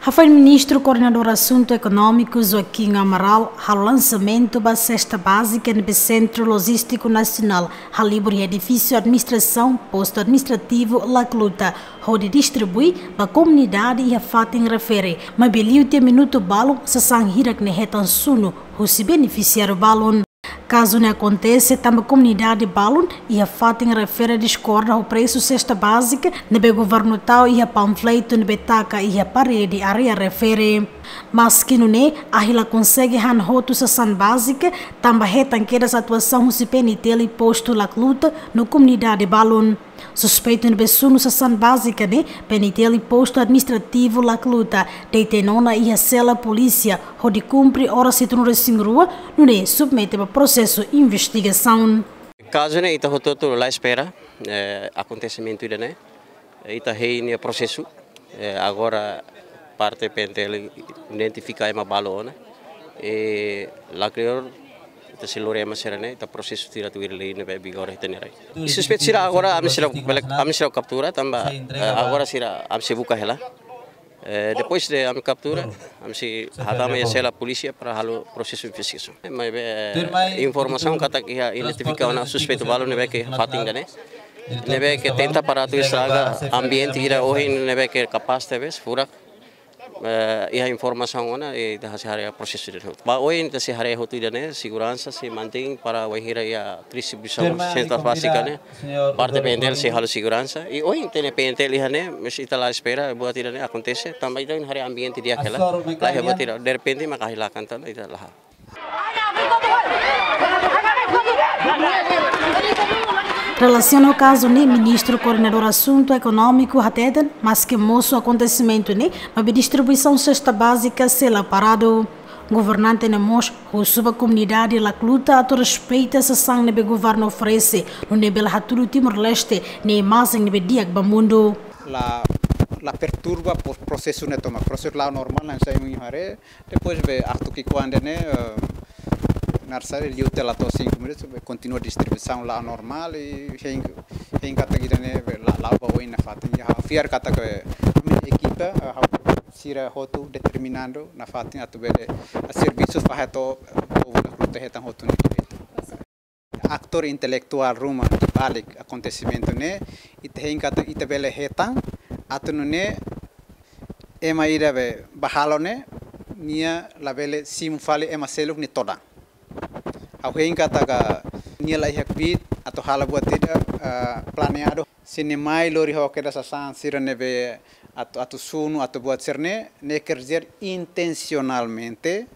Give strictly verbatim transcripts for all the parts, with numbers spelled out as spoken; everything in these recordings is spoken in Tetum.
Hafoin Ministru Koordenadór Asuntu Ekonómiku Joaquim Amaral halo lansamentu ba sesta bázika ne'ebé Sentru Lojístiku Nasionál halibur iha edifísiu administrasaun postu administrativu Lacluta, hodi distribui ba komunidade iha fatin refere, maibé liu tiha minutu balun sasán hirak ne'e hetan sunu husi benefisiáriu balun. Kazu ne'e akontese tanba komunidade balun iha fatin refere diskorda ho presu sesta bázika ne'ebé governu tau iha panfletu ne'ebé taka iha parede área refere. Maski nune'e, ahi la konsege han hotu sasán bázika tanba hetan kedas atuasaun husi P N T L postu Lacluta no komunidade balun. Suspeitu ne'ebé sunu sasán bázika ne'e, P N T L postu administrativu Lacluta detenha ona iha sela polísia hodi kumpre oras hitunulu-resin-rua, nune'e submete ba prosesu investigasaun. Kazu ne'e ita hotu-hotu la espera, eh, akontesimentu ida-ne'e. Ita hein nia prosesu. Eh, agora parte P N T L identifika ema balu ona. Eh, lakleur ita sei lori ema sira-ne'e, ita prosesu tuir atu ir lei ne'ebé vigora iha ita-nia rai. Suspeitu sira agora ami sira, ami sira kaptura tanba, eh, agora sira ami sei buka hela. Eh, depois de ami kaptura, ami sei hatama iha sela polísia para halo prosesu investigasaun. Eh, maibé, eh, informasaun katak iha identifika ona suspeitu balu ne'ebé ke fatin ida-ne'e. Ne'ebé ke tenta para atu estraga ambiente ida ohin ne'ebé ke kapás tebes, furak. Eh, iha informasaun ona, eh, ita sei haree prosesu ida-ne'e. Ba ohin ita sei haree hotu ida-ne'e, seguransa sei mantein para wainhira iha distribuisaun sesta bázika ne'e. Parte P N T L sei halo seguransa. I ohin tenke P N T L iha ne'e, mas ita la espera buat ida-ne'e akontese. Tanba ita haree ambiente di'ak hela. La iha buat ida, derrepente maka ahi la kanta, ita la. Relasiona ho kazu ne'e, Ministru Koordenadór Asuntu Ekonómiku hateten, maski mosu akontesimentu ne'e, maibé distribuisaun sesta bázika sei la paradu. Governante ne'e mós husu ba komunidade Lacluta atu respeita sasán ne'ebé governu oferese, nune'e bele hatudu Timor-Leste nia imajen ne'ebé di'ak ba mundu. La, la perturba pro-, prosesu ne'e tomak. Prosesu la'o normál, hanesan imi haree. Depois be atu ki'ikoan ida-ne'e, eh, narsari liu tiha la to'o cinco minutos, be kontinua distribuisaun la'o normál, i hein, hein katak ida-ne'e be la, la'o ba oin nafatin. Iha fiar katak ami-nia ekipa, eh, ha'u sira hotu determinadu nafatin atu bele, eh, servisu fahe to'o, eh, povu Lacluta hetan hotu nia direitu. Atór intelektuál ruma iha balik akontesimentu ne'e, ita hein katak ita bele hetan, atu nune'e ema ida be bá halo ne'e, nia labele simu fali ema seluk nia todan. Ha'u hein katak nia la iha kbiit atu halo buat ida, eh, planeadu. Se nia mai lori ho kedas sasán sira ne'ebé atu, atu sunu, atu buat sira-ne'e, ne'e quer dizer intencionalmente.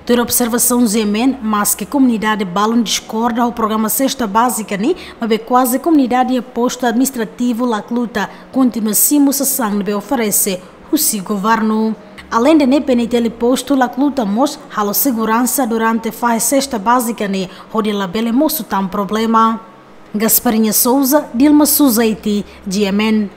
Tuir observasaun G M N, maski komunidade balun diskorda ho programa sesta bázika ne'e, maibé kuaze komunidade iha postu administrativu Lacluta kontinua simu sasán ne'ebé oferese husi governu. Aleinde ne'e, P N T L postu Lacluta mós halo seguransa durante fahe sesta bázika ne'e, hodi labele mosu tan problema. Gasparinha Souza, Dilma Suzaiti, G M N.